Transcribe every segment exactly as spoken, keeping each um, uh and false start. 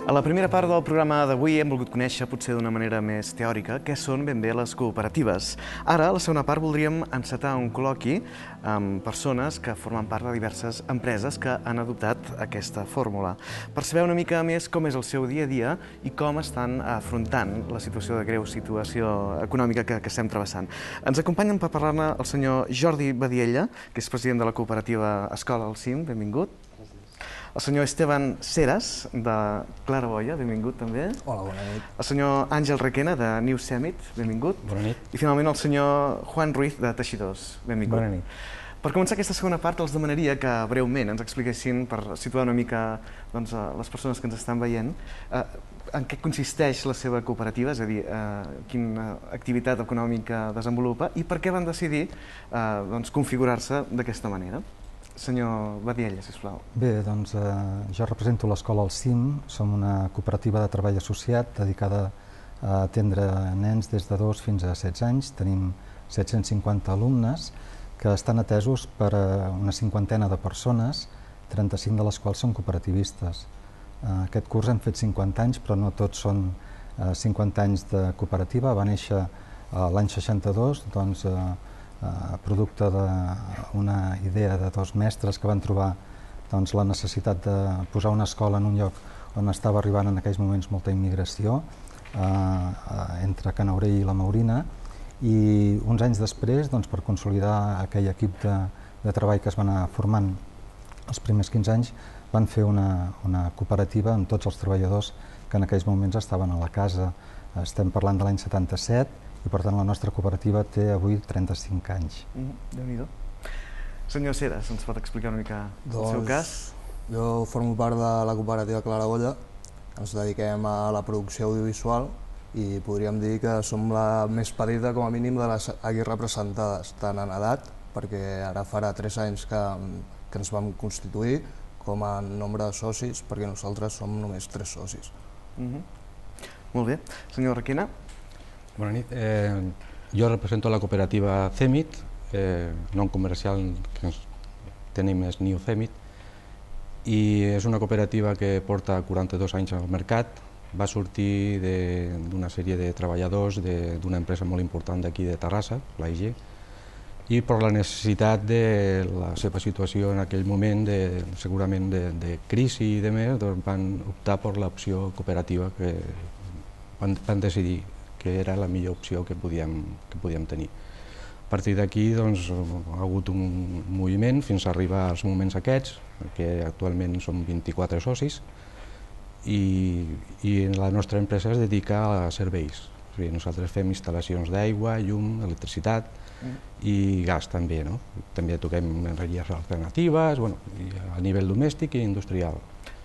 A la primera part del programa d'avui hem volgut conèixer, potser d'una manera més teòrica, què són ben bé les cooperatives. Ara, a la segona part, voldríem encetar un col·loqui amb persones que formen part de diverses empreses que han adoptat aquesta fórmula, per saber una mica més com és el seu dia a dia i com estan afrontant la situació de greu situació econòmica que, que estem travessant. Ens acompanyen per parlar-ne el senyor Jordi Badiella, que és president de la cooperativa Escola al Cim, benvingut. El senyor Esteban Seras, de Claraboia, benvingut també. Hola, bona nit. El senyor Àngel Requena, de New Summit, benvingut. Bona nit. I finalment el senyor Juan Ruiz, de Teixidors, benvingut. Bona nit. Per començar aquesta segona part, els demanaria que breument ens expliquessin, per situar una mica doncs, les persones que ens estan veient, eh, en què consisteix la seva cooperativa, és a dir, eh, quina activitat econòmica desenvolupa i per què van decidir eh, doncs, configurar-se d'aquesta manera. Senyor Badiella, sisplau. Bé, doncs eh, jo represento l'Escola al Cim, som una cooperativa de treball associat dedicada a atendre nens des de dos fins a setze anys. Tenim set-cents cinquanta alumnes que estan atesos per una cinquantena de persones, trenta-cinc de les quals són cooperativistes. Eh, aquest curs hem fet cinquanta anys, però no tots són eh, cinquanta anys de cooperativa. Va néixer eh, l'any seixanta-dos, doncs, eh, Uh, producte d'una idea de dos mestres que van trobar doncs, la necessitat de posar una escola en un lloc on estava arribant en aquells moments molta immigració uh, uh, entre Canaurell i la Maurina, i uns anys després, doncs, per consolidar aquell equip de, de treball que es va anar formant els primers quinze anys, van fer una, una cooperativa amb tots els treballadors que en aquells moments estaven a la casa. Estem parlant de l'any setanta-set, i per tant la nostra cooperativa té avui trenta-cinc anys. Mm, Déu-n'hi-do. Senyor Seras, ens pot explicar una mica el doncs, seu cas? Jo formo part de la cooperativa Claraboia, ens dediquem a la producció audiovisual i podríem dir que som la més petita com a mínim de les aquí representades, tant en edat, perquè ara farà tres anys que, que ens vam constituir, com en nombre de socis, perquè nosaltres som només tres socis. Mm-hmm. Molt bé. Senyor Requena? Bona nit. Eh, jo represento la cooperativa CEMIT, eh, nom comercial que ens tenim és New CEMIT, i és una cooperativa que porta quaranta-dos anys al mercat. Va sortir d'una sèrie de treballadors d'una empresa molt important d'aquí de Terrassa, l'A I G, i per la necessitat de la seva situació en aquell moment, de, segurament de, de crisi i de més, doncs van optar per l'opció cooperativa que van, van decidir que era la millor opció que podíem, que podíem tenir. A partir d'aquí doncs, ha hagut un moviment fins a arribar als moments aquests, que actualment som vint-i-quatre socis, i, i la nostra empresa es dedica a serveis. O sigui, nosaltres fem instal·lacions d'aigua, llum, electricitat mm. i gas també. No? També toquem energies alternatives, bueno, a nivell domèstic i industrial.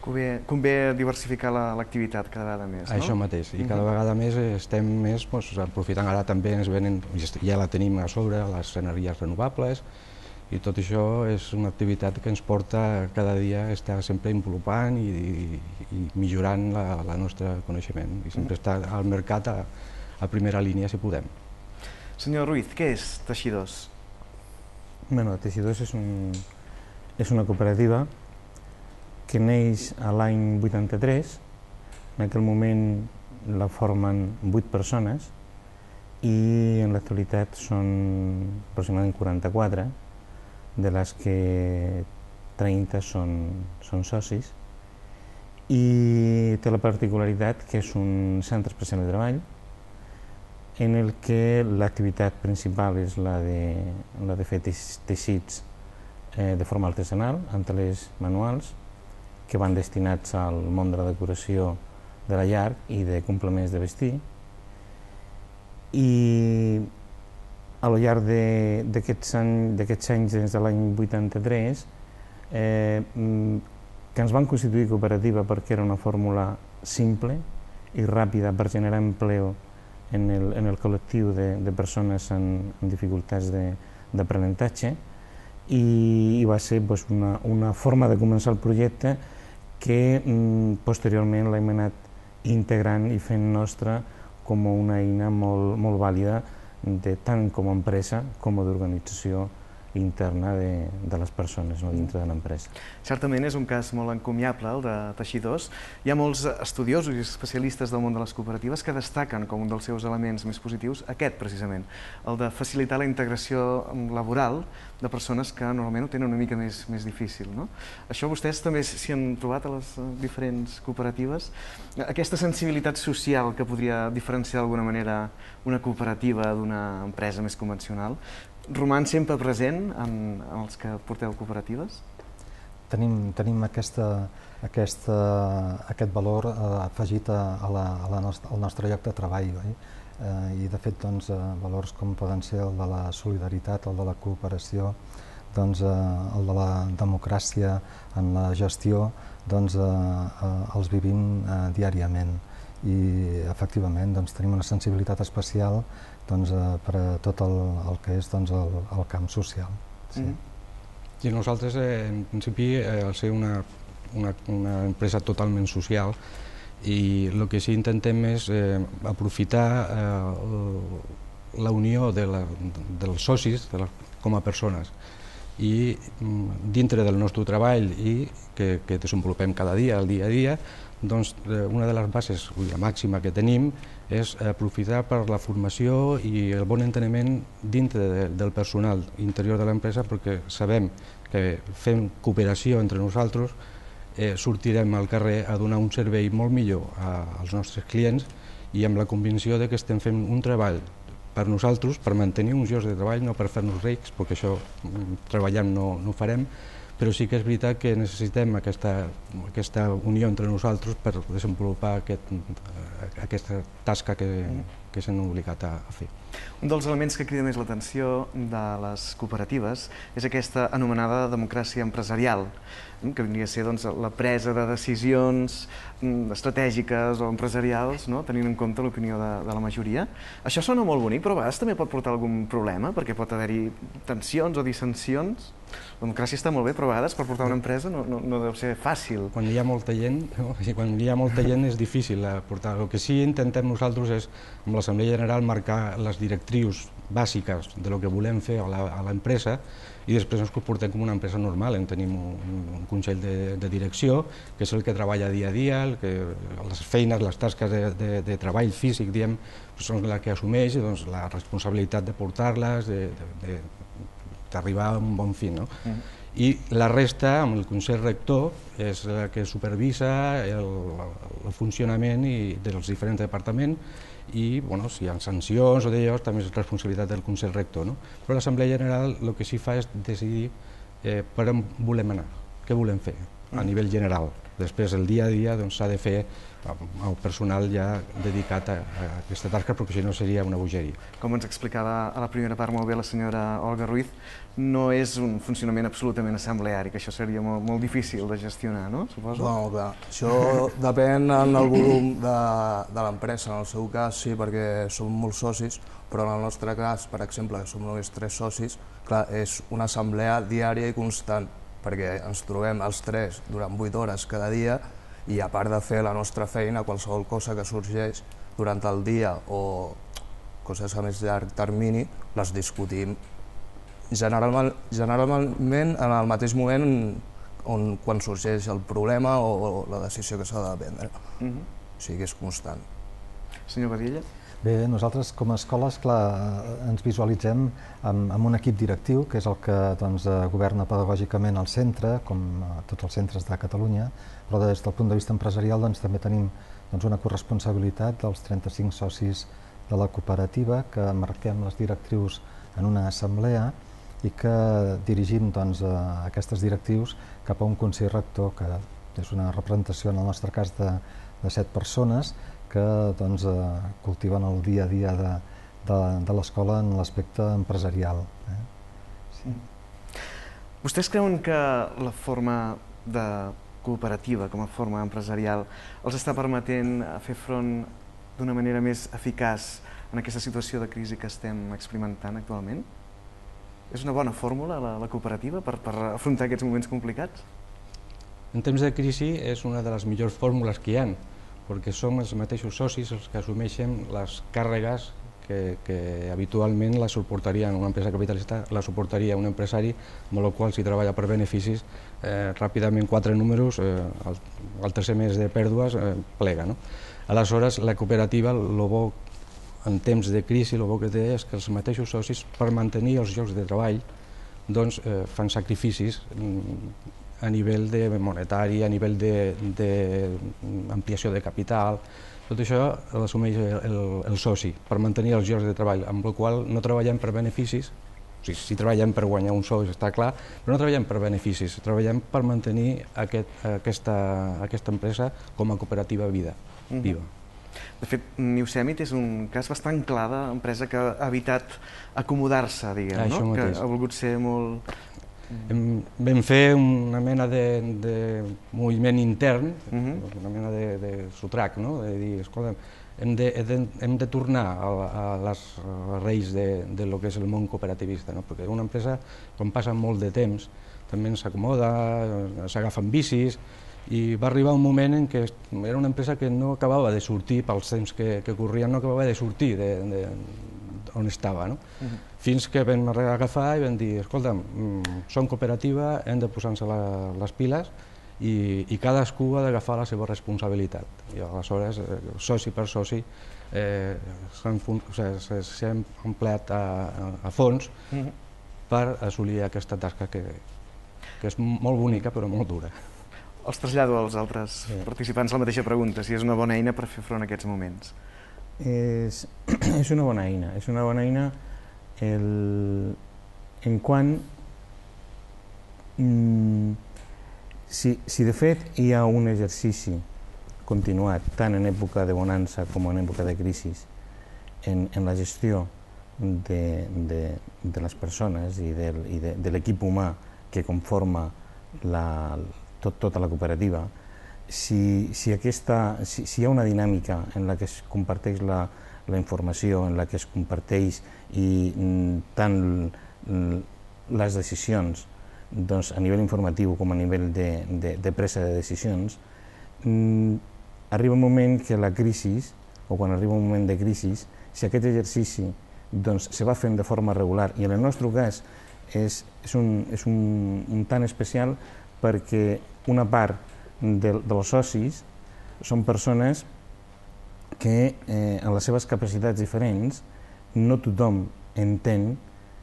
Convé, convé diversificar l'activitat cada vegada més, no? Això mateix, i cada vegada més estem més doncs, aprofitant, ara també ens venen, ja la tenim a sobre, les energies renovables, i tot això és una activitat que ens porta cada dia a estar sempre involucrant i, i, i millorant la, la nostre coneixement, i sempre estar al mercat a, a primera línia si podem. Senyor Ruiz, què és Teixidors? Bueno, Teixidors és, un, és una cooperativa que neix a l'any vuitanta-tres. En aquell moment la formen vuit persones i en l'actualitat són aproximadament quaranta-quatre, de les que trenta són, són socis, i té la particularitat que és un centre especial de treball en el que l'activitat principal és la de, la de fer teixits eh, de forma artesanal, amb telers manuals, que van destinats al món de la decoració de la llar i de complements de vestir. I al llarg d'aquests anys, anys, des de l'any vuitanta-tres, eh, que ens van constituir cooperativa perquè era una fórmula simple i ràpida per generar empleo en el, en el col·lectiu de, de persones amb, amb dificultats d'aprenentatge, i, i va ser pues, una, una forma de començar el projecte que mm, posteriorment l'hem anat integrant i fent nostra com una eina molt, molt vàlida de, tant com a empresa com a d'organització interna de, de les persones, no dintre de l'empresa. Certament és un cas molt encomiable, el de Teixidors. Hi ha molts estudiosos i especialistes del món de les cooperatives que destaquen com un dels seus elements més positius aquest, precisament, el de facilitar la integració laboral de persones que normalment ho tenen una mica més, més difícil. No? Això vostès també s'hi han trobat a les diferents cooperatives? Aquesta sensibilitat social que podria diferenciar d'alguna manera una cooperativa d'una empresa més convencional, roman sempre present en, en els que porteu cooperatives? Tenim, tenim aquesta, aquesta, aquest valor eh, afegit a, a la, a la nostra, al nostre lloc de treball. Oi? Eh, I de fet doncs, eh, valors com poden ser el de la solidaritat, el de la cooperació, doncs, eh, el de la democràcia en la gestió, doncs, eh, eh, els vivim eh, diàriament. I efectivament doncs, tenim una sensibilitat especial doncs, eh, per a tot el, el que és doncs, el, el camp social. Sí. Mm-hmm. I nosaltres, eh, en principi, eh, al ser una, una, una empresa totalment social, i el que sí intentem és eh, aprofitar eh, la unió de la, dels socis de la, com a persones, i dintre del nostre treball i que, que desenvolupem cada dia, el dia a dia, doncs una de les bases, la màxima que tenim, és aprofitar per la formació i el bon enteniment dintre de, del personal interior de l'empresa, perquè sabem que fent cooperació entre nosaltres eh, sortirem al carrer a donar un servei molt millor a, als nostres clients, i amb la convicció de que estem fent un treball per nosaltres, per mantenir uns llocs de treball, no per fer-nos rics, perquè això treballant no, no ho farem, però sí que és veritat que necessitem aquesta, aquesta unió entre nosaltres per desenvolupar aquest, aquesta tasca que, que s'han obligat a, a fer. Un dels elements que crida més l'atenció de les cooperatives és aquesta anomenada democràcia empresarial, que vindria a ser doncs, la presa de decisions estratègiques o empresarials, no? Tenint en compte l'opinió de, de la majoria. Això sona molt bonic, però a vegades també pot portar algun problema, perquè pot haver-hi tensions o dissensions. La democràcia està molt bé, però a vegades per portar una empresa no, no, no deu ser fàcil. Quan hi ha molta gent, no? quan hi ha molta gent és difícil portar. El que sí intentem nosaltres és, amb l'Assemblea General, marcar les directrius bàsiques de lo que volem fer a l'empresa, i després ens comportem com una empresa normal. En tenim un, un consell de, de direcció, que és el que treballa dia a dia, el que, les feines, les tasques de, de, de treball físic, diem, són la que assumeix doncs, la responsabilitat de portar-les, d'arribar a un bon fi. No? Mm. I la resta, amb el Consell Rector, és la que supervisa el, el funcionament i dels diferents departaments, i bueno, si hi ha sancions o d'allò, també és responsabilitat del Consell Rector. No? Però l'Assemblea General el que sí fa és decidir eh, per on volem anar, què volem fer a nivell general. Després, el dia a dia s'ha de fer el personal ja dedicat a, a aquesta tasca, perquè si no seria una bogeria. Com ens explicava a la primera part molt bé la senyora Olga Ruiz, no és un funcionament absolutament assembleari, que això seria molt, molt difícil de gestionar, no? Suposo? Bueno, clar, això depèn del volum de, de l'empresa. En el seu cas sí, perquè som molts socis, però en el nostre cas, per exemple, que som només tres socis, clar, és una assemblea diària i constant, perquè ens trobem els tres durant vuit hores cada dia, i a part de fer la nostra feina, qualsevol cosa que sorgeix durant el dia o coses a més llarg termini, les discutim generalment, generalment en el mateix moment on, quan sorgeix el problema o, o la decisió que s'ha de prendre. Mm-hmm. O sigui que és constant. Senyor Badilla? Bé, nosaltres com a escoles, clar, ens visualitzem amb, amb un equip directiu, que és el que doncs, governa pedagògicament el centre, com tots els centres de Catalunya, però des del punt de vista empresarial doncs, també tenim doncs, una corresponsabilitat dels trenta-cinc socis de la cooperativa, que marquem les directrius en una assemblea i que dirigim doncs, aquestes directrius cap a un consell rector, que és una representació, en el nostre cas, de, de set persones, que doncs, eh, cultiven el dia a dia de, de, de l'escola en l'aspecte empresarial. Eh? Sí. Vostès creuen que la forma de cooperativa com a forma empresarial els està permetent fer front d'una manera més eficaç en aquesta situació de crisi que estem experimentant actualment? És una bona fórmula la, la cooperativa per, per afrontar aquests moments complicats? En temps de crisi és una de les millors fórmules que hi ha, perquè som els mateixos socis els que assumeixen les càrregues que, que habitualment la suportaria en una empresa capitalista, la suportaria un empresari, amb el qual si treballa per beneficis, eh, ràpidament quatre números, eh, el, el tercer mes de pèrdues eh, plega. No? Aleshores, la cooperativa, el bo en temps de crisi, el bo que té és que els mateixos socis, per mantenir els llocs de treball, doncs, eh, fan sacrificis a nivell de monetari, a nivell d'ampliació de, de capital. Tot això l'assumeix el, el soci per mantenir els llocs de treball, amb el qual no treballem per beneficis, o sigui, si treballem per guanyar un sou, està clar, però no treballem per beneficis, treballem per mantenir aquest, aquesta, aquesta empresa com a cooperativa vida, viva. Mm-hmm. De fet, New Semit és un cas bastant clar d'empresa que ha evitat acomodar-se, diguem, no? Que ha volgut ser molt... Hem, vam fer una mena de, de moviment intern, uh-huh. una mena de, de sotrac, no? De dir, escolta, hem de, hem de tornar a, a les reis de, de lo que és el món cooperativista, no? Perquè una empresa, quan passa molt de temps, també s'acomoda, s'agafen bicis, i va arribar un moment en què era una empresa que no acabava de sortir, pels temps que, que corrien, no acabava de sortir de, de, on estava. No? Uh-huh. Fins que vam agafar i vam dir, escolta, som cooperativa, hem de posar-nos les piles i, i cadascú ha d'agafar la seva responsabilitat. I aleshores, soci per soci, eh, s'han o sigui, empleat a, a fons uh-huh. per assolir aquesta tasca que, que és molt bonica però molt dura. Els trasllado als altres sí. participants la mateixa pregunta, si és una bona eina per fer front a aquests moments. És, és una bona eina, és una bona eina el, en quant mm, si, si de fet hi ha un exercici continuat tant en època de bonança com en època de crisi en, en la gestió de, de, de les persones i, del, i de, de l'equip humà que conforma la Tot, tota la cooperativa, si, si, aquesta, si, si hi ha una dinàmica en la que es comparteix la, la informació, en la que es comparteix i mm, tant mm, les decisions doncs, a nivell informatiu com a nivell de, de, de presa de decisions, mm, arriba un moment que la crisi, o quan arriba un moment de crisi, si aquest exercici doncs, se va fent de forma regular, i en el nostre cas és, és, un, és un, un tant especial perquè una part de, dels socis són persones que eh, en les seves capacitats diferents no tothom entén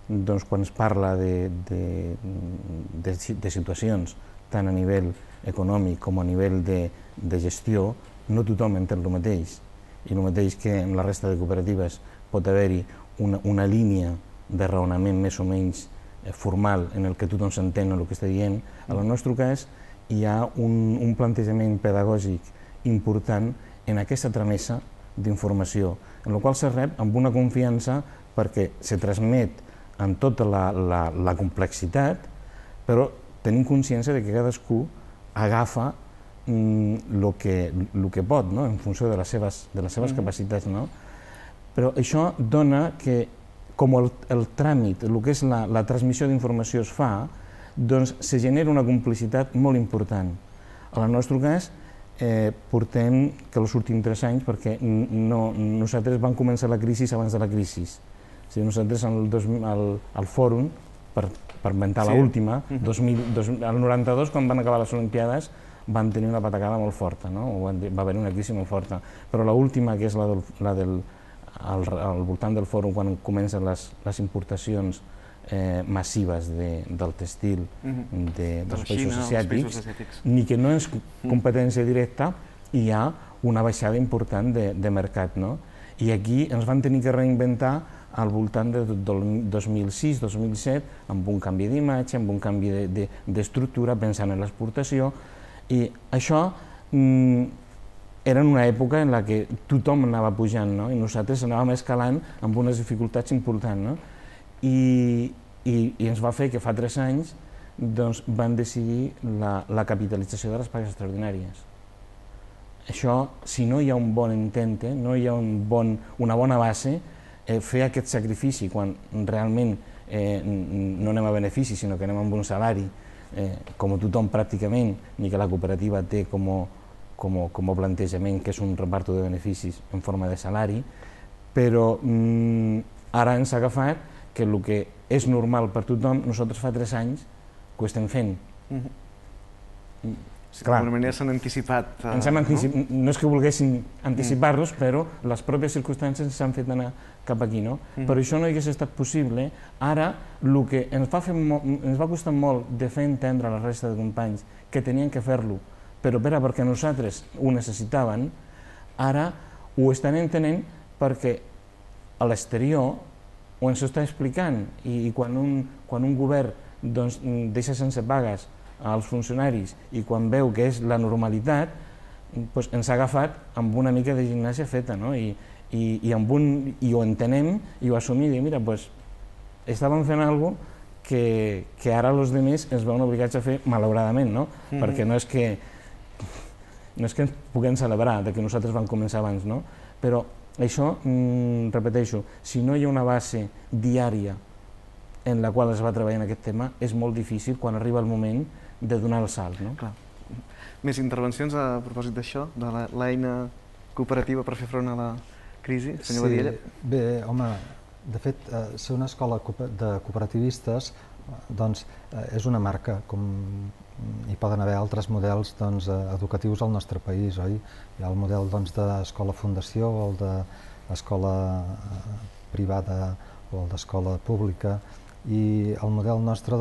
doncs, quan es parla de, de, de, de situacions tant a nivell econòmic com a nivell de, de gestió, no tothom entén el mateix. I el mateix que en la resta de cooperatives pot haver-hi una, una línia de raonament més o menys formal en el que tothom s'entén el que està dient. En el nostre cas hi ha un, un plantejament pedagògic important en aquesta tramesa d'informació, en la qual se rep amb una confiança perquè se transmet amb tota la, la, la complexitat, però tenim consciència de que cadascú agafa el mm, que, lo que pot, no? En funció de les seves, de les seves mm-hmm. capacitats. No? Però això dona que com el, el tràmit, el que és la, la transmissió d'informació es fa, doncs se genera una complicitat molt important. En el nostre cas, eh, portem que els últims tres anys, perquè no, nosaltres vam començar la crisi abans de la crisi. O sigui, nosaltres al, al, al fòrum, per, per inventar sí. l'última, uh-huh. el noranta-dos, quan van acabar les Olimpiades, van tenir una patacada molt forta, no? Va haver una crisi molt forta. Però l'última, que és la del, la del al, al voltant del fòrum, quan comencen les, les importacions eh, massives de, del textil uh-huh. de, dels de països Xina, asiàtics, asiàtics, ni que no és competència directa, hi ha una baixada important de, de mercat. No? I aquí ens van tenir que reinventar al voltant de, del dos mil sis dos mil set, amb un canvi d'imatge, amb un canvi d'estructura, de, de, pensant en l'exportació, i això mm, era en una època en la que tothom anava pujant, no? I nosaltres anàvem escalant amb unes dificultats importants. No? I, i, I ens va fer que fa tres anys doncs, van decidir la, la capitalització de les pagues extraordinàries. Això, si no hi ha un bon intente, no hi ha un bon, una bona base, eh, fer aquest sacrifici quan realment eh, no anem a benefici, sinó que anem amb un salari, eh, com tothom pràcticament, ni que la cooperativa té com a, com a, com a plantejament que és un reparto de beneficis en forma de salari, però ara ens ha agafat que el que és normal per tothom, nosaltres fa tres anys que ho estem fent. D'alguna manera s'han anticipat. No és que volguessin anticipar-los, però les pròpies circumstàncies ens han fet anar cap aquí. Però això no hagués estat possible. Ara, el que ens va costar molt de fer entendre a la resta de companys que tenien que fer-lo, però perquè nosaltres ho necessitaven, ara ho estan entenent perquè a l'exterior ho ens està explicant, i quan un govern deixa sense pagues als funcionaris i quan veu que és la normalitat, ens ha agafat amb una mica de gimnàsia feta, i ho entenem i ho assumim, i mira, estàvem fent alguna cosa que ara els altres ens veuen obligats a fer, malauradament, perquè no és que no és que ens puguem celebrar que nosaltres vam començar abans, però això, repeteixo, si no hi ha una base diària en la qual es va treballar en aquest tema, és molt difícil quan arriba el moment de donar el salt. Més intervencions a propòsit d'això, de l'eina cooperativa per fer front a la crisi, senyor Badiella? Bé, home, de fet, ser una escola de cooperativistes és una marca, com hi poden haver altres models educatius al nostre país, oi? Hi ha el model d'escola fundació, o el d'escola privada, o el d'escola pública, i el model nostre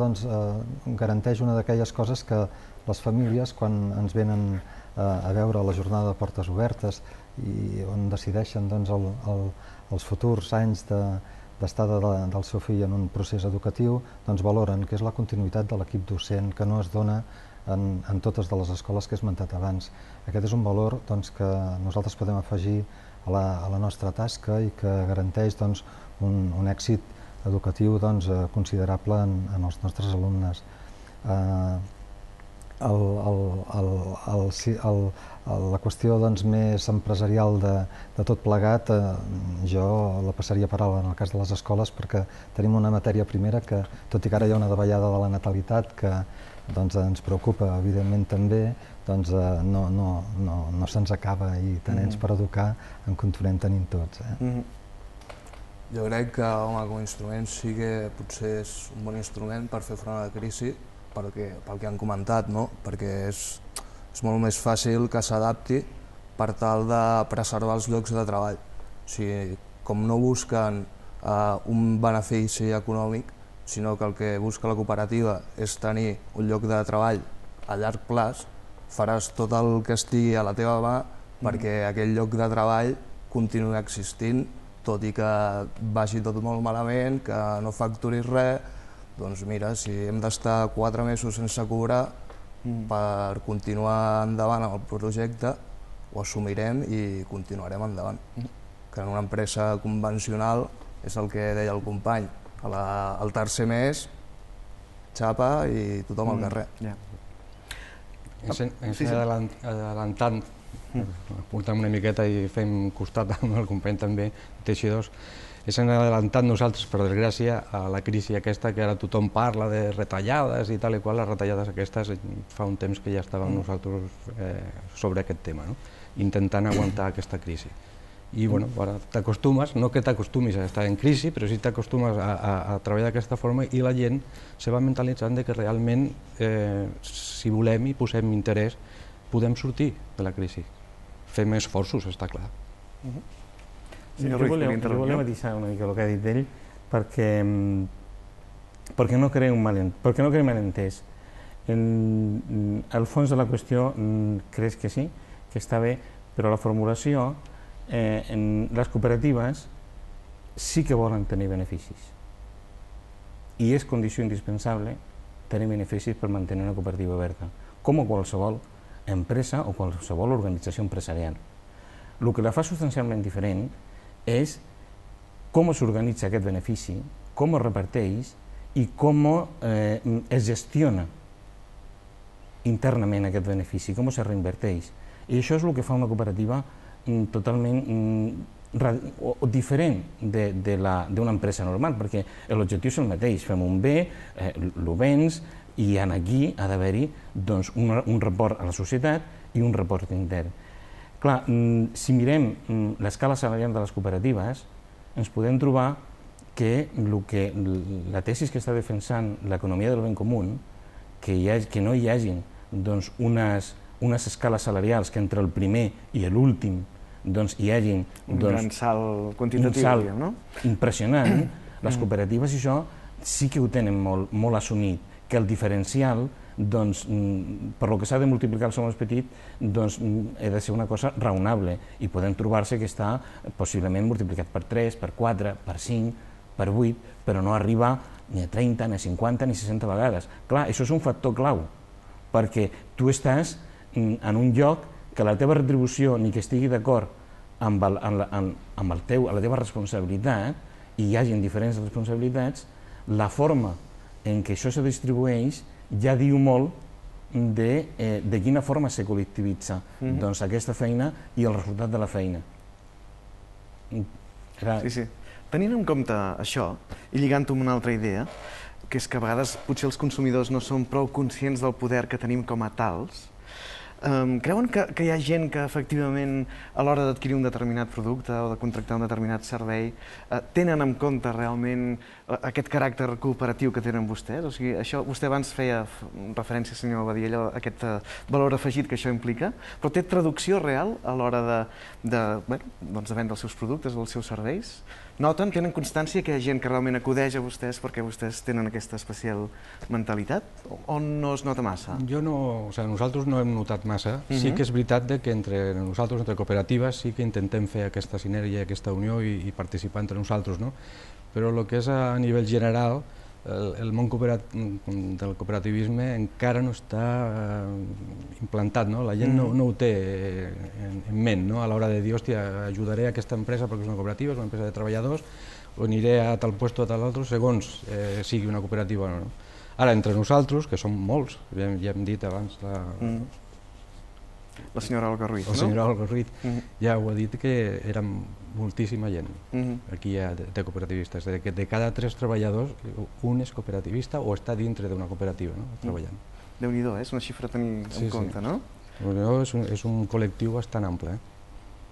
garanteix una d'aquelles coses que les famílies, quan ens venen a veure la jornada de portes obertes i on decideixen els futurs anys d'estada del seu fill en un procés educatiu, valoren que és la continuïtat de l'equip docent, que no es dona en totes de les escoles que he esmentat abans. Aquest és un valor que nosaltres podem afegir a la nostra tasca i que garanteix un èxit educatiu considerable en els nostres alumnes. La qüestió més empresarial de tot plegat jo la passaria per alt en el cas de les escoles, perquè tenim una matèria primera que, tot i que ara hi ha una davallada de la natalitat que ens preocupa evidentment també, no se'ns acaba, i de nens per educar en continuem tenint tots. Jo crec que com a instrument sí que potser és un bon instrument per fer front a la crisi, pel que han comentat, perquè és molt més fàcil que s'adapti per tal de preservar els llocs de treball. Com no busquen un benefici econòmic, sinó que el que busca la cooperativa és tenir un lloc de treball a llarg plaç, faràs tot el que estigui a la teva mà perquè aquell lloc de treball continuï existint, tot i que vagi tot molt malament, que no facturis res. Doncs mira, si hem d'estar quatre mesos sense cobrar per continuar endavant amb el projecte, ho assumirem i continuarem endavant. Que en una empresa convencional és el que deia el company, al tercer mes, xapa i tothom al carrer. Ens adelantant, apuntant una miqueta i fem costat amb el company també, teixidors, ens hem adelantat nosaltres, per desgràcia, a la crisi aquesta que ara tothom parla de retallades i tal i qual. Les retallades aquestes fa un temps que ja estàvem nosaltres sobre aquest tema, intentant aguantar aquesta crisi. I bueno, ara t'acostumes, no que t'acostumis a estar en crisi, però sí t'acostumes a treballar d'aquesta forma i la gent se va mentalitzant que realment, si volem i posem interès, podem sortir de la crisi. Fem esforços, està clar. Jo volia matisar una mica el que ha dit ell, perquè no creu un malentès. El fons de la qüestió crec que sí, que està bé, però la formulació, les cooperatives sí que volen tenir beneficis. I és condició indispensable tenir beneficis per mantenir una cooperativa oberta, com a qualsevol empresa o qualsevol organització empresarial. El que la fa substancialment diferent és com s'organitza aquest benefici, com es reparteix i com es gestiona internament aquest benefici, com es reinverteix. I això és el que fa una cooperativa totalment diferent d'una empresa normal, perquè l'objectiu és el mateix, fem un bé, el vens, i aquí ha d'haver-hi un report a la societat i un report intern. Clar, si mirem l'escala salarial de les cooperatives, ens podem trobar que, el que la tesi que està defensant l'economia del ben comú, que, hi ha, que no hi hagin doncs, unes, unes escales salarials que entre el primer i l'últim doncs, hi hagin un doncs, gran salt quantitatiu, un salt diguem, no? impressionant. Les cooperatives i això sí que ho tenen molt, molt assumit, que el diferencial, doncs, per lo que s'ha de multiplicar el sou més petit, doncs, ha de ser una cosa raonable i podem trobar-se que està possiblement multiplicat per tres, per quatre, per cinc, per vuit, però no arriba ni a trenta, ni a cinquanta, ni a seixanta vegades. Clar, això és un factor clau, perquè tu estàs en un lloc que la teva retribució ni que estigui d'acord amb, el, amb, amb, amb el teu, la teva responsabilitat, i hi hagin diferents responsabilitats, la forma en què això se distribueix ja diu molt de, eh, de quina forma se col·lectivitza mm-hmm. doncs, aquesta feina i el resultat de la feina. Clar. Sí, sí. Tenint en compte això, i lligant-ho amb una altra idea, que és que a vegades potser els consumidors no són prou conscients del poder que tenim com a tals, Um, creuen que, que hi ha gent que efectivament a l'hora d'adquirir un determinat producte o de contractar un determinat servei uh, tenen en compte realment uh, aquest caràcter cooperatiu que tenen vostès? O sigui, això, vostè abans feia referència, senyor Badiella, a aquest uh, valor afegit que això implica, però té traducció real a l'hora de, de, bueno, doncs de vendre els seus productes o els seus serveis? Noten, tenen constància que hi ha gent que realment acudeix a vostès perquè vostès tenen aquesta especial mentalitat? O no es nota massa? Jo no, o sigui, nosaltres no hem notat massa. Uh-huh. Sí que és veritat que entre nosaltres, entre cooperatives, sí que intentem fer aquesta sinergia, aquesta unió i, i participar entre nosaltres, no? Però el que és a nivell general, el, el món cooperat, del cooperativisme encara no està eh, implantat, no? La gent no, no ho té en, en ment, no? A l'hora de dir, hòstia, ajudaré a aquesta empresa perquè és una cooperativa, és una empresa de treballadors, o aniré a tal puesto o a tal altre, segons eh, sigui una cooperativa o no. Ara, entre nosaltres, que som molts, ja, ja hem dit abans la... Mm. La senyora Olga Ruiz, no? La senyora Olga Ruiz uh-huh. ja ho ha dit que érem moltíssima gent. Uh-huh. Aquí hi ha de, de cooperativistes. De, que de cada tres treballadors, un és cooperativista o està dintre d'una cooperativa, no? Treballant. Uh-huh. Déu-n'hi-do, eh? És una xifra a tenir sí, en compte, sí. No? És un, és un col·lectiu bastant ample. Eh?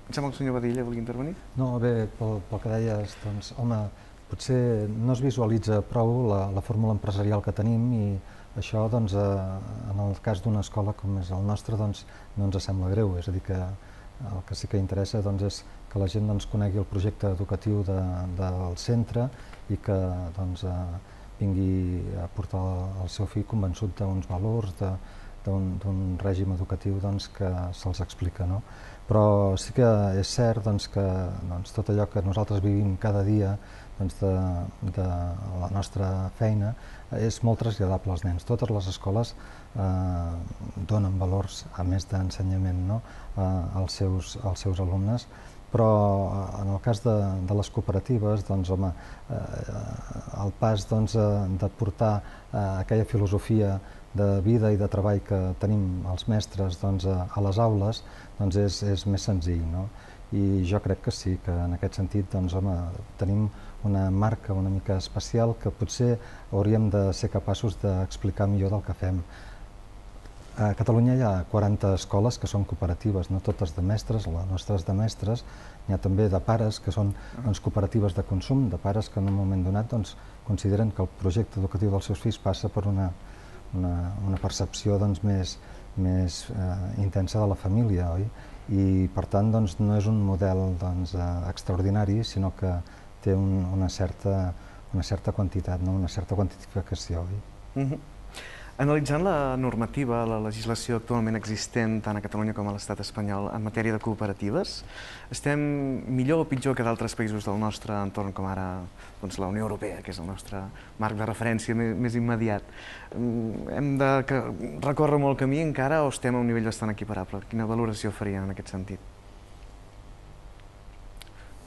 Em sembla que el senyor Badilla volia intervenir? No, bé, pel, pel que deies, doncs, home, potser no es visualitza prou la, la fórmula empresarial que tenim i això, doncs, eh, en el cas d'una escola com és el nostre, doncs, no ens sembla greu. És a dir, que el que sí que interessa doncs, és que la gent doncs, conegui el projecte educatiu de, del centre i que doncs, eh, vingui a portar el seu fill convençut d'uns valors, d'un règim educatiu doncs, que se'ls explica. No? Però sí que és cert doncs, que doncs, tot allò que nosaltres vivim cada dia doncs, de, de la nostra feina és molt traslladable als nens. Totes les escoles eh, donen valors, a més d'ensenyament, no? eh, als, seus, als seus alumnes, però en el cas de, de les cooperatives, doncs, home, eh, el pas doncs, de portar eh, aquella filosofia de vida i de treball que tenim els mestres doncs, a, a les aules doncs, és, és més senzill. No? I jo crec que sí, que en aquest sentit doncs, home, tenim una marca una mica especial que potser hauríem de ser capaços d'explicar millor del que fem. A Catalunya hi ha quaranta escoles que són cooperatives, no totes de mestres, les nostres de mestres, n'hi ha també de pares que són doncs, cooperatives de consum, de pares que en un moment donat doncs, consideren que el projecte educatiu dels seus fills passa per una, una, una percepció doncs, més, més eh, intensa de la família, oi? I per tant doncs, no és un model doncs, eh, extraordinari, sinó que té un, una, certa, una certa quantitat, no? Una certa quantificació. Oi? Uh-huh. Analitzant la normativa, la legislació actualment existent tant a Catalunya com a l'estat espanyol en matèria de cooperatives, estem millor o pitjor que d'altres països del nostre entorn, com ara doncs, la Unió Europea, que és el nostre marc de referència més, més immediat. Hem de que, recórrer molt camí encara o estem a un nivell bastant equiparable? Quina valoració farien en aquest sentit?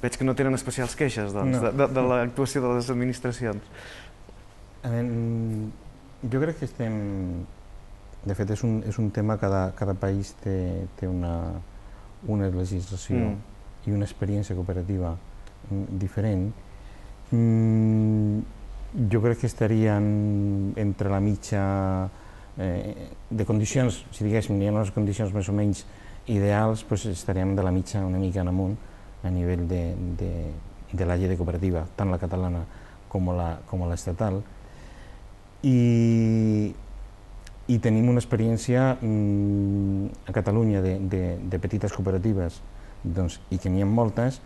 Veig que no tenen especials queixes doncs, no. de, de, de l'actuació de les administracions. A veure, jo crec que estem... De fet, és un, és un tema que cada, cada país té, té una, una legislació mm. i una experiència cooperativa diferent. Mm, jo crec que estarien entre la mitja eh, de condicions, si diguéssim, hi ha unes condicions més o menys ideals, doncs estaríem de la mitja una mica en amunt a nivell de, de, de la llei de cooperativa, tant la catalana com l'estatal, i, i tenim una experiència a Catalunya de, de, de petites cooperatives, doncs, i que n'hi ha moltes,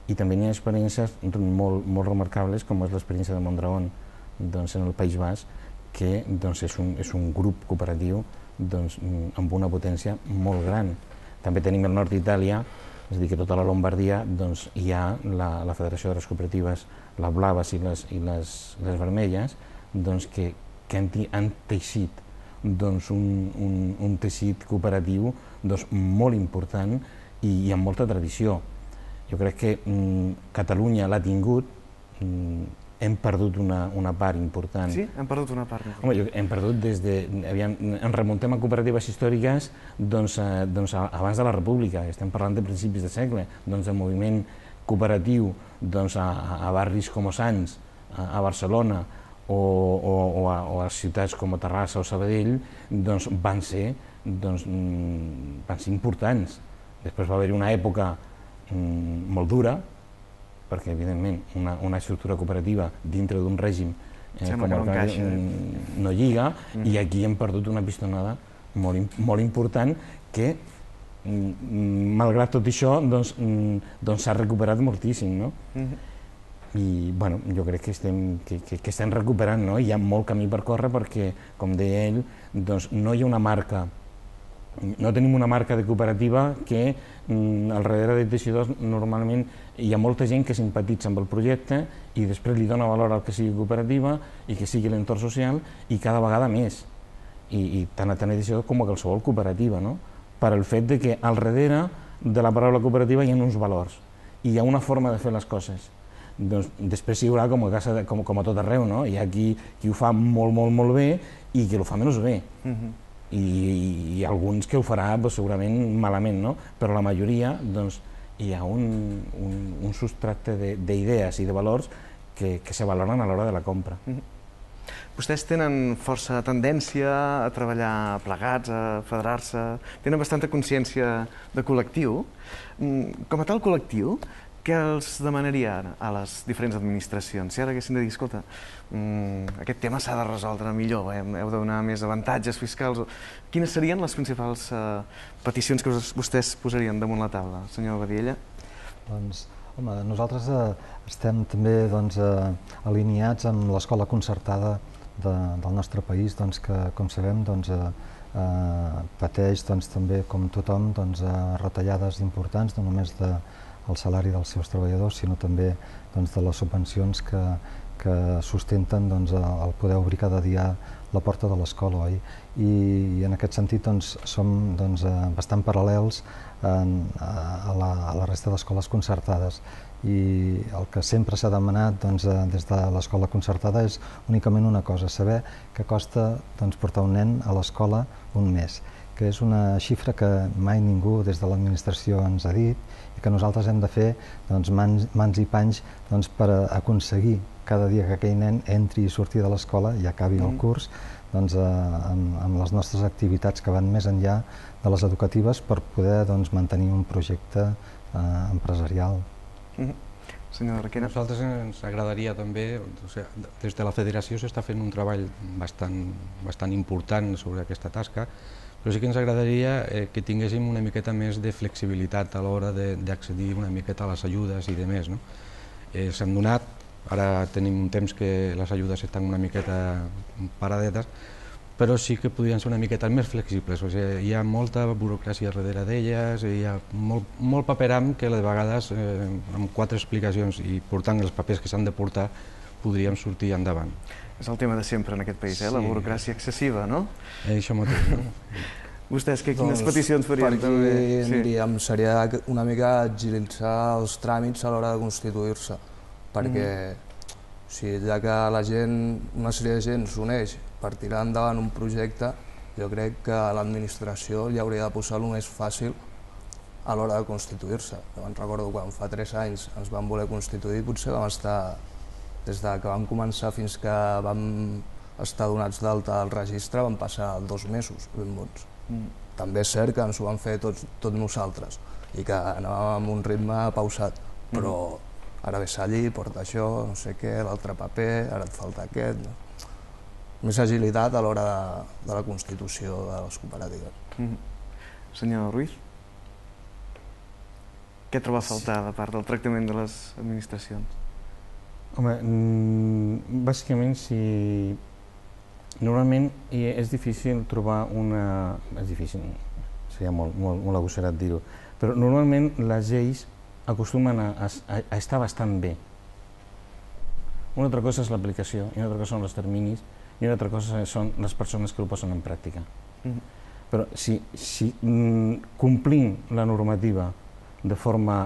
i també n'hi ha experiències molt, molt remarcables, com és l'experiència de Mondragón, doncs, en el País Basc, que doncs, és, un, és un grup cooperatiu doncs, amb una potència molt gran. També tenim el nord d'Itàlia, és a dir, que tota la Lombardia doncs, hi ha la, la Federació de les Cooperatives, les blaves i les, i les, les vermelles, doncs, que, que han, han teixit doncs, un, un, un teixit cooperatiu doncs, molt important i, i amb molta tradició. Jo crec que mm, Catalunya l'ha tingut, mm, hem perdut una, una part important. Sí? Hem perdut una part important. Home, jo, hem perdut des de... Aviam, ens remuntem a cooperatives històriques doncs, eh, doncs, abans de la República, estem parlant de principis de segle, doncs el moviment cooperatiu doncs, a, a barris com Sants, a, a Barcelona, o, o, o, a, o a ciutats com a Terrassa o Sabadell, doncs, van, ser, doncs, van ser importants. Després va haver-hi una època mm, molt dura, perquè, evidentment, una, una estructura cooperativa dintre d'un règim eh, com el que no, no lliga, mm. i aquí hem perdut una pistonada molt, molt important que, mm, malgrat tot això, doncs, mm, doncs s'ha recuperat moltíssim, no? Mm-hmm. I, bueno, jo crec que estem, que, que, que estem recuperant, no? Hi ha molt camí per córrer perquè, com deia ell, doncs no hi ha una marca, no tenim una marca de cooperativa que mm, al darrere de teixidors normalment hi ha molta gent que simpatitza amb el projecte i després li dona valor al que sigui cooperativa i que sigui l'entorn social i cada vegada més. I, i tant a tant teixidor com a qualsevol cooperativa, no? Per el fet de que al darrere de la paraula cooperativa hi ha uns valors i hi ha una forma de fer les coses. Doncs, després hi haurà com a, casa de, com, com a tot arreu, no? Hi ha qui, qui ho fa molt, molt, molt bé i qui ho fa menys bé. Mm-hmm. I, i alguns que ho farà doncs, segurament malament, no? Però la majoria doncs, hi ha un, un, un substrat d'idees i de valors que, que se valoren a l'hora de la compra. Mm-hmm. Vostès tenen força tendència a treballar plegats, a federar-se, tenen bastanta consciència de col·lectiu. Com a tal col·lectiu, què els demanaria a les diferents administracions? Si ara haguessin de dir, escolta, mmm, aquest tema s'ha de resoldre millor, eh? Heu de donar més avantatges fiscals... Quines serien les principals eh, peticions que vostès posarien damunt la taula, senyor Badiella? Doncs, home, nosaltres eh, estem també doncs, eh, alineats amb l'escola concertada de, del nostre país, doncs, que, com sabem, doncs, eh, eh, pateix doncs, també, com tothom, doncs, eh, retallades importants, no només de el salari dels seus treballadors, sinó també doncs, de les subvencions que, que sustenten doncs, el poder obrir cada dia la porta de l'escola. Oi? I, I en aquest sentit doncs, som doncs, bastant paral·lels en, a, la, a la resta d'escoles concertades. I el que sempre s'ha demanat doncs, des de l'escola concertada és únicament una cosa, saber què costa doncs, portar un nen a l'escola un mes, que és una xifra que mai ningú des de l'administració ens ha dit i que nosaltres hem de fer doncs, mans, mans i panys doncs, per aconseguir cada dia que aquell nen entri i surti de l'escola i acabi el curs doncs, eh, amb, amb les nostres activitats que van més enllà de les educatives per poder doncs, mantenir un projecte eh, empresarial. Mm-hmm. Senyor Requena. A nosaltres ens agradaria també, o sigui, des de la federació s'està fent un treball bastant, bastant important sobre aquesta tasca, però sí que ens agradaria eh, que tinguéssim una miqueta més de flexibilitat a l'hora d'accedir una miqueta a les ajudes i de més. No? Eh, S'han donat, ara tenim un temps que les ajudes estan una miqueta paradetes, però sí que podrien ser una miqueta més flexibles. O sigui, hi ha molta burocràcia darrere d'elles, hi ha molt, molt paperam que de vegades eh, amb quatre explicacions i portant els papers que s'han de portar podríem sortir endavant. És el tema de sempre en aquest país, eh? La burocràcia excessiva, no? Eh, això mateix, no? Vostès, que, quines doncs, peticions farien? Per aquí sí. diríem, seria una mica agilitzar els tràmits a l'hora de constituir-se, perquè mm. si ja que la gent, una sèrie de gent s'uneix per tirar endavant un projecte, jo crec que l'administració li hauria de posar el més fàcil a l'hora de constituir-se. Jo me'n recordo quan fa tres anys ens vam voler constituir, potser vam estar, des de que vam començar fins que vam estar donats d'alta al registre, van passar dos mesos ben bons. Mm. També és cert que ens ho vam fer tots, tot nosaltres i que anàvem amb un ritme pausat, però ara ve allí, porta això, no sé què, l'altre paper, ara et falta aquest... Més agilitat a l'hora de la constitució de les cooperatives. Senyor Ruiz, què troba a faltar de part del tractament de les administracions? Home, bàsicament, si... Normalment és difícil trobar una... És difícil, seria molt agosserat dir-ho, però normalment les lleis acostumen a estar bastant bé. Una altra cosa és l'aplicació, i una altra cosa són els terminis, i una altra cosa són les persones que ho posen en pràctica. Però si complint la normativa de forma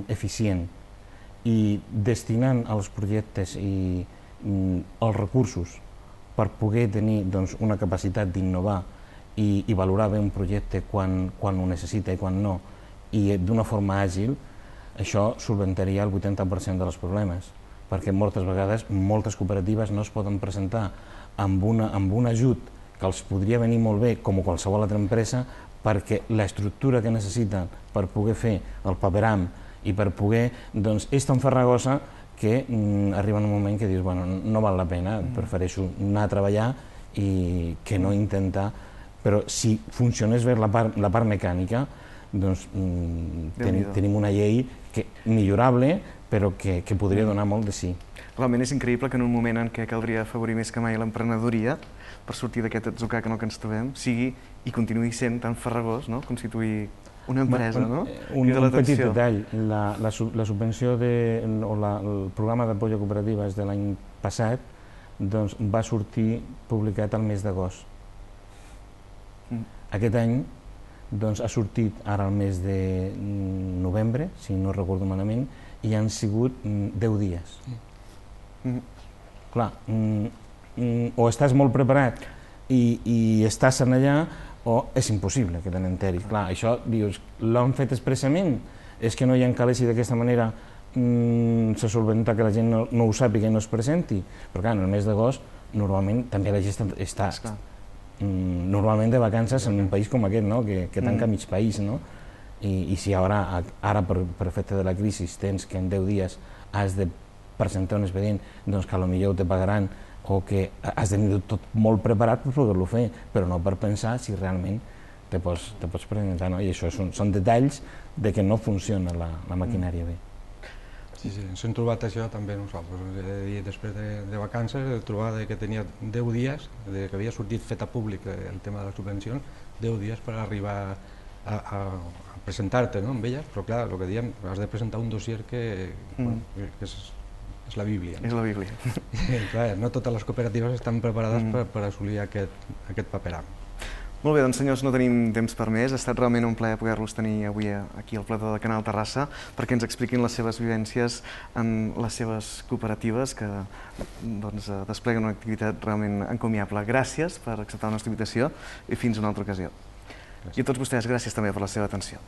eficient i destinant als projectes i els recursos per poder tenir una capacitat d'innovar i valorar bé un projecte quan ho necessita i quan no, i d'una forma àgil, això solventaria el vuitanta per cent dels problemes, perquè moltes vegades moltes cooperatives no es poden presentar amb un ajut que els podria venir molt bé, com qualsevol altra empresa, perquè l'estructura que necessiten per poder fer el paperam i per poder, doncs, és tan farragosa que arriba un moment que dius, bueno, no val la pena, prefereixo anar a treballar i que no intentar, però si funcionés bé la part mecànica, doncs tenim una llei millorable, però que podria donar molt de sí. Realment és increïble que en un moment en què caldria afavorir més que mai l'emprenedoria per sortir d'aquest atzucac en el que ens trobem, sigui i continuï sent tan farragós constituir una empresa, no? Un petit detall, la subvenció o el programa d'apoyo a cooperatives de l'any passat va sortir publicat al mes d'agost. Aquest any ha sortit ara al mes de novembre, si no recordo malament, i han sigut deu dies. Clar, o estàs molt preparat i estàs allà, o és impossible que te n'enteris. Clar, això, dius, l'han fet expressament, és que no hi ha calés i d'aquesta manera se solventa que la gent no ho sàpiga i no es presenti. Però clar, en el mes d'agost, normalment, també la gent està normalment de vacances en un país com aquest, que tanca mig país, i si ara, per efecte de la crisi, tens que en deu dies has de presentar un expedient, doncs que potser ho te pagaran o que has de tenir tot molt preparat per poder-lo fer, però no per pensar si realment te pots presentar. I això són detalls de que no funciona la maquinària bé. Sí, sí, ens hem trobat això també nosaltres. Després de vacances, he trobat que tenia deu dies, que havia sortit fet a públic el tema de les subvencions, deu dies per arribar a presentar-te amb elles, però clar, el que diem, has de presentar un dossier que és la Bíblia. És la Bíblia. Clar, no totes les cooperatives estan preparades per assolir aquest paperam. Molt bé, doncs senyors, no tenim temps per més. Ha estat realment un plaer poder-los tenir avui aquí al plató de Canal Terrassa perquè ens expliquin les seves vivències en les seves cooperatives que despleguen una activitat realment encomiable. Gràcies per acceptar la nostra invitació i fins una altra ocasió. I a tots vostès, gràcies també per la seva atenció.